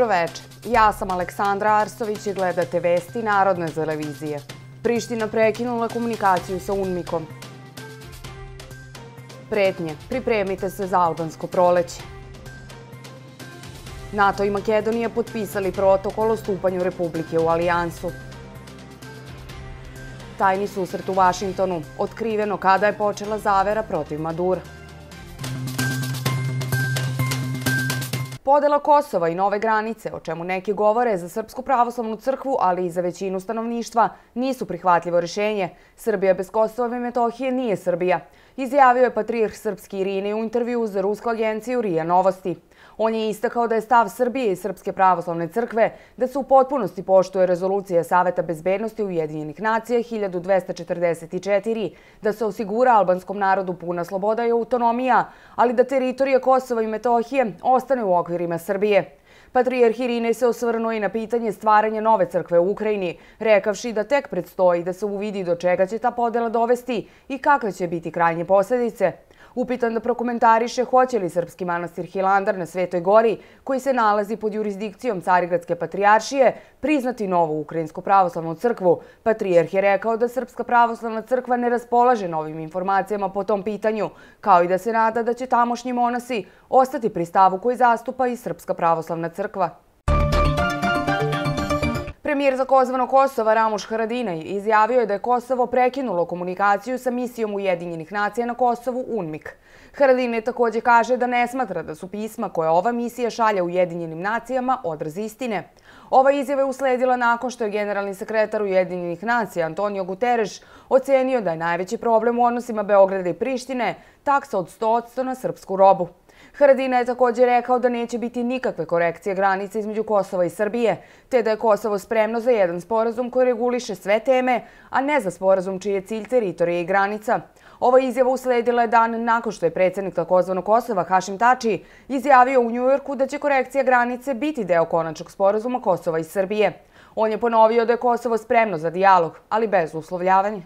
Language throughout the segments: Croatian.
Dobroveče, ja sam Aleksandra Arsović i gledate vesti Narodne televizije. Priština prekinula komunikaciju sa UNMIK-om. Pretnje, pripremite se za albansko proleće. NATO i Makedonija potpisali protokol o stupanju Republike u alijansu. Tajni susret u Vašingtonu, otkriveno kada je počela zavera protiv Madura. Podela Kosova i nove granice, o čemu neki govore za Srpsku pravoslavnu crkvu, ali i za većinu stanovništva, nisu prihvatljivo rješenje. Srbija bez Kosova i Metohije nije Srbija, izjavio je patrijarh srpski Irinej u intervjuu za rusku agenciju RIA Novosti. On je istakao da je stav Srbije i Srpske pravoslavne crkve da se u potpunosti poštuje rezolucija Saveta bezbednosti Ujedinjenih nacija 1244, da se osigura albanskom narodu puna sloboda i autonomija, ali da teritorija Kosova i Metohije ostane u okvirima Srbije. Patrijarh Irinej se osvrnuo i na pitanje stvaranja nove crkve u Ukrajini, rekavši da tek predstoji da se uvidi do čega će ta podela dovesti i kakve će biti krajnje posljedice. Upitan da prokomentariše hoće li srpski manastir Hilandar na Svetoj gori, koji se nalazi pod jurisdikcijom Carigradske patrijaršije, priznati novu ukrajinsku pravoslavnu crkvu, patrijarh je rekao da Srpska pravoslavna crkva ne raspolaže novim informacijama po tom pitanju, kao i da se nada da će tamošnji monasi ostati pri stavu koji zastupa i Srpska pravoslavna crkva. Premijer takozvanog Kosova Ramuš Haradinaj izjavio je da je Kosovo prekinulo komunikaciju sa misijom Ujedinjenih nacija na Kosovu UNMIK. Haradinaj također kaže da ne smatra da su pisma koje ova misija šalje Ujedinjenim nacijama odraz istine. Ova izjava je usledila nakon što je generalni sekretar Ujedinjenih nacija Antonio Guterres ocenio da je najveći problem u odnosima Beograda i Prištine taksa od 100% na srpsku robu. Haradinaj je također rekao da neće biti nikakve korekcije granice između Kosova i Srbije, te da je Kosovo spremno za jedan sporazum koji reguliše sve teme, a ne za sporazum čiji je cilj teritorije i granica. Ova izjava usledila je dan nakon što je predsjednik takozvanog Kosova Hašim Tači izjavio u Njujorku da će korekcija granice biti deo konačnog sporazuma Kosova i Srbije. On je ponovio da je Kosovo spremno za dijalog, ali bez uslovljavanja.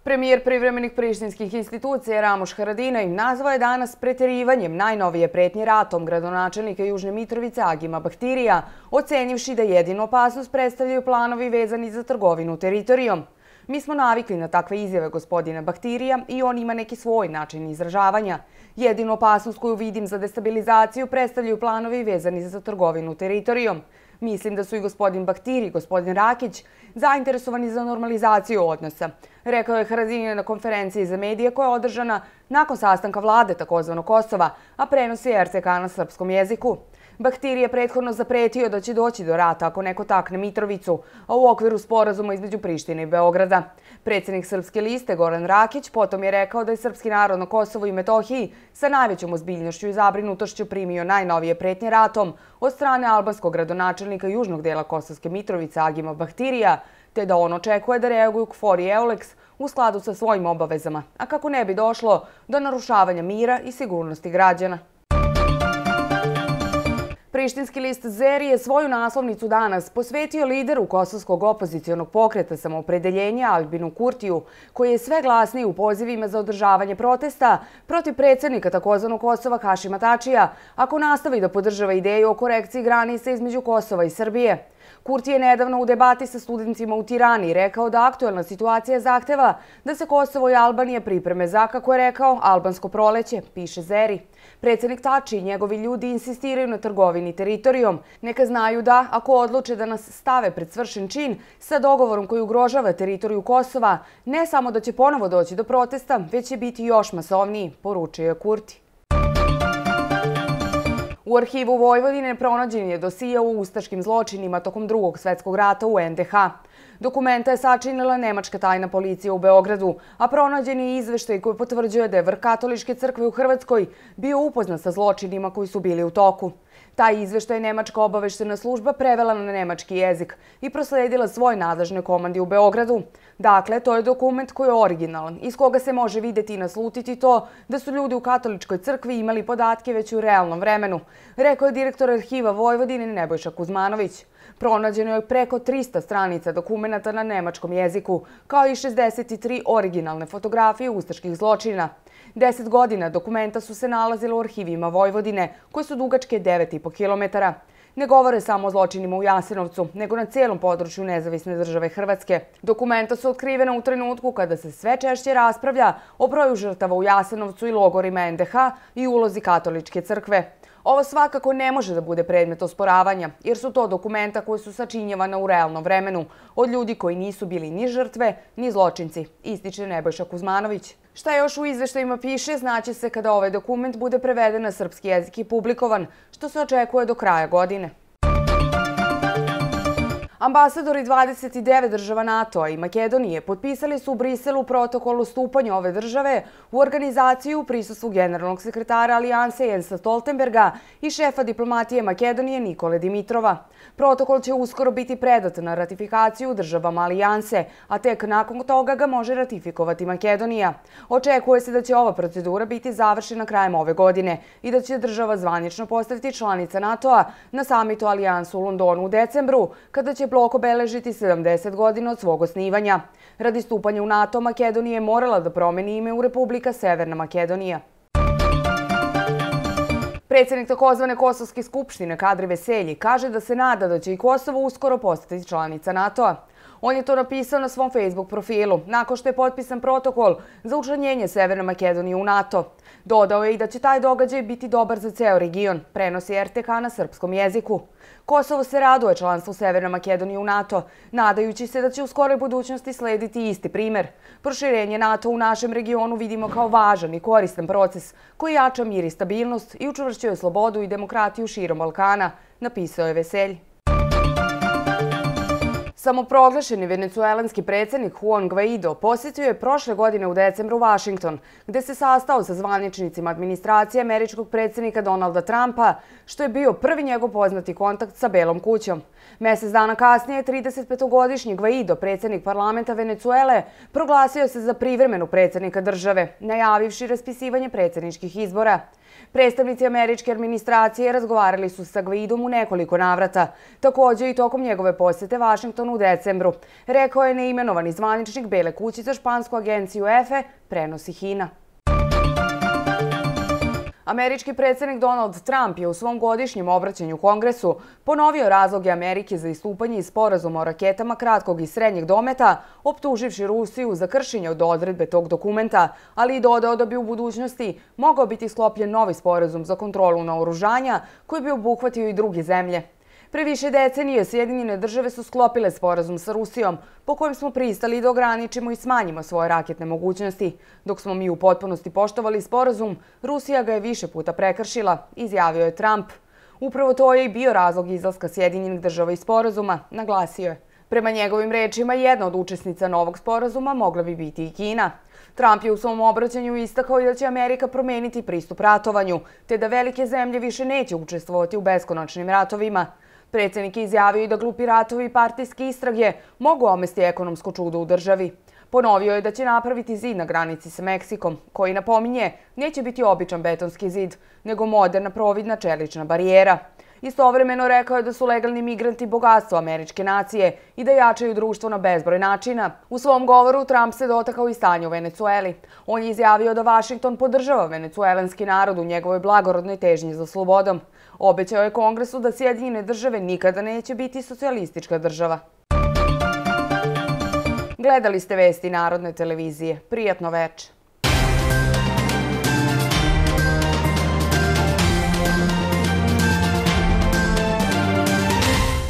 Premijer privremenih prištinskih institucija Ramuš Haradinaj nazvao je danas preterivanjem najnovije pretnje ratom gradonačelnika Južne Mitrovice Agima Bahtirija, ocenjivši da jedinu opasnost predstavljaju planovi vezani za trgovinu teritorijom. Mi smo navikli na takve izjave gospodina Bahtirija i on ima neki svoj način izražavanja. Jedinu opasnost koju vidim za destabilizaciju predstavljaju planovi vezani za trgovinu teritorijom. Mislim da su i gospodin Bahtiri i gospodin Rakić zainteresovani za normalizaciju odnosa, rekao je Haradinaj na konferenciji za medije koja je održana nakon sastanka vlade takozvanog Kosova, a prenosi RTK na srpskom jeziku. Bahtiri je prethodno zapretio da će doći do rata ako neko takne Mitrovicu, a u okviru sporazuma između Prištine i Beograda. Predsjednik Srpske liste Goran Rakić potom je rekao da je srpski narod na Kosovu i Metohiji sa najvećom ozbiljnošću i zabrinutošću primio najnovije pretnje ratom od strane albanskog gradonačelnika južnog dela Kosovske Mitrovice Agima Bahtirija, te da on očekuje da reaguju KFOR i EULEX u skladu sa svojim obavezama, a kako ne bi došlo do narušavanja mira i sigurnosti građana. Prištinski list Zeri je svoju naslovnicu danas posvetio lideru kosovskog opozicionog pokreta Samoopredeljenja Albinu Kurtiju, koji je sve glasniji u pozivima za održavanje protesta protiv predsjednika takozvanog Kosova Hašima Tačija, ako nastavi da podržava ideju o korekciji granice između Kosova i Srbije. Kurti je nedavno u debati sa studentima u Tirani rekao da aktuelna situacija zahteva da se Kosovo i Albanija pripreme za, kako je rekao, albansko proleće, piše Zeri. Predsjednik Tači i njegovi ljudi insistiraju na trgovini teritorijom. Neka znaju da, ako odluče da nas stave pred svršen čin sa dogovorom koji ugrožava teritoriju Kosova, ne samo da će ponovo doći do protesta, već će biti još masovniji, poručio je Kurti. U arhivu Vojvodine pronađen je dosije o ustaškim zločinima tokom Drugog svjetskog rata u NDH. Dokumenta je sačinila nemačka tajna policija u Beogradu, a pronađen je izveštaj koji potvrđuje da je vrh katoličke crkve u Hrvatskoj bio upoznat sa zločinima koji su bili u toku. Taj izveštaj nemačka obaveštena služba prevela na nemački jezik i prosledila svoj nadležnoj komandi u Beogradu. Dakle, to je dokument koji je originalan, iz koga se može vidjeti i naslutiti to da su ljudi u katoličkoj crkvi imali podatke već u realnom vremenu, rekao je direktor arhiva Vojvodine Nebojša Kuzmanović. Pronađeno je preko 300 stranica dokumenata na nemačkom jeziku, kao i 63 originalne fotografije ustaških zločina. 10 godina dokumenta su se nalazile u arhivima Vojvodine, koje su dugačke 9,5 kilometara. Ne govore samo o zločinima u Jasenovcu, nego na cijelom području nezavisne države Hrvatske. Dokumenta su otkrivena u trenutku kada se sve češće raspravlja o broju žrtava u Jasenovcu i logorima NDH i ulozi katoličke crkve. Ovo svakako ne može da bude predmet osporavanja, jer su to dokumenta koje su sačinjavana u realnom vremenu, od ljudi koji nisu bili ni žrtve, ni zločinci, ističe Nebojša Kuzmanović. Šta još u izveštajima piše, znaće se kada ovaj dokument bude preveden na srpski jezik i publikovan, što se očekuje do kraja godine. Ambasadori 29 država NATO-a i Makedonije potpisali su u Briselu protokol o stupanju ove države u organizaciju u prisustvu generalnog sekretara Alijanse Jensa Stoltenberga i šefa diplomatije Makedonije Nikole Dimitrova. Protokol će uskoro biti predat na ratifikaciju državama Alijanse, a tek nakon toga ga može ratifikovati Makedonija. Očekuje se da će ova procedura biti završena krajem ove godine i da će država zvanično postati članica NATO-a na samitu Alijansu u Londonu u decembru, kada će blok obeležiti 70 godina od svog osnivanja. Radi stupanja u NATO, Makedonija je morala da promeni ime u Republika Severna Makedonija. Predsjednik takozvane Kosovske skupštine Kadri Veselji kaže da se nada da će i Kosovo uskoro postati članica NATO-a. On je to napisao na svom Facebook profilu, nakon što je potpisan protokol za učlanjenje Severne Makedonije u NATO. Dodao je i da će taj događaj biti dobar za ceo region, prenosi RTK na srpskom jeziku. Kosovo se raduje članstvu Severne Makedonije u NATO, nadajući se da će u skoroj budućnosti slediti isti primer. Proširenje NATO u našem regionu vidimo kao važan i koristan proces koji jača mir i stabilnost i učvršćuje slobodu i demokratiju širom Balkana, napisao je Veselji. Samoproglašeni venecuelanski predsjednik Juan Guaido posjetio je prošle godine u decembru Washington, gde se sastao sa zvaničnicima administracije američkog predsjednika Donalda Trumpa, što je bio prvi njegov poznati kontakt sa Belom kućom. Mjesec dana kasnije, 35-godišnji Guaido, predsjednik parlamenta Venecuele, proglasio se za privremenu predsjednika države, najavivši raspisivanje predsjedničkih izbora. Predstavnici američke administracije razgovarali su sa Guaidom u nekoliko navrata, također i tokom njegove posjete Vašingtonu u decembru, rekao je neimenovani zvaničnik Bele kuće za špansku agenciju EFE, prenosi HINA. Američki predsjednik Donald Trump je u svom godišnjem obraćanju Kongresu ponovio razloge Amerike za istupanje iz sporazuma o raketama kratkog i srednjeg dometa, optuživši Rusiju za kršenje od odredbe tog dokumenta, ali i dodao da bi u budućnosti mogao biti sklopljen novi sporazum za kontrolu naoružanja koji bi obuhvatio i druge zemlje. Pre više decenije Sjedinjene države su sklopile sporazum sa Rusijom, po kojem smo pristali da ograničimo i smanjimo svoje raketne mogućnosti. Dok smo mi u potpunosti poštovali sporazum, Rusija ga je više puta prekršila, izjavio je Trump. Upravo to je i bio razlog izlaska Sjedinjenih država iz sporazuma, naglasio je. Prema njegovim rečima, jedna od učesnica novog sporazuma mogla bi biti i Kina. Trump je u svom obraćanju istakao i da će Amerika promeniti pristup ratovanju, te da velike zemlje više neće učestvovati u beskonačnim ratovima. Predsjednik je izjavio i da glupi ratovi i partijske istrage mogu omesti ekonomsko čudo u državi. Ponovio je da će napraviti zid na granici sa Meksikom, koji, napominje, neće biti običan betonski zid, nego moderna providna čelična barijera. Istovremeno rekao je da su legalni migranti bogatstvo američke nacije i da jačaju društvo na bezbroj načina. U svom govoru Trump se dotakao i stanja u Venecueli. On je izjavio da Vašington podržava venecuelanski narod u njegovoj blagorodnoj težnji za slobodom. Obećao je Kongresu da Sjedinjene države nikada neće biti socijalistička država. Gledali ste vesti Narodne televizije. Prijatno veče.